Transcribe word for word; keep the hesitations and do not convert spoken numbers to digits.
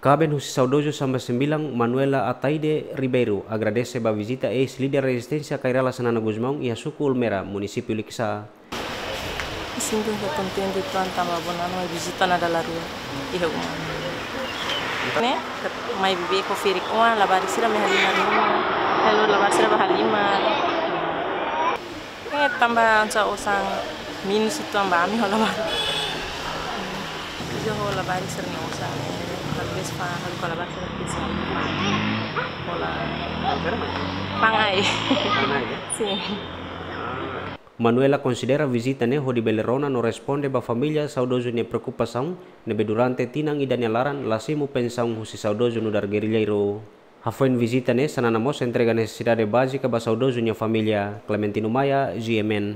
Kaben husi saudozu samba sembilan, Manuela Ataide Ribeiro, agradese ba vizita eis-líder rezisténsia Kay Rala Xanana Gusmão iha suku Ulmera, munisípiu Likisá. Sinto kontente uitoan tanba Bonano mai vizita ona dala rua iha uma. Ne'e, mai bibi ko feri oan, labarik sira mai halimar ruma. Halo labarik sira ba halimar. Eh, tanba ansa osan minus uitoan ba ami ho labarik. Iha ho labarik sira-nia osan, eh, talvez pa, halo ko labarik sira pisa. Hola. Pangai. Pangai, ya? Sin. Manuela konsidera vizita ne'e hodi bele rona no responde ba família saudozu nia preokupasaun, ne'ebé durante tinan ida nia laran la simu pensaun husi saudozu nu'udar gerrilleiru. Hafoin vizita ne'e, Xanana mós entrega nesesidade bázika ba saudozu nia família. Clementino Maia, G M N.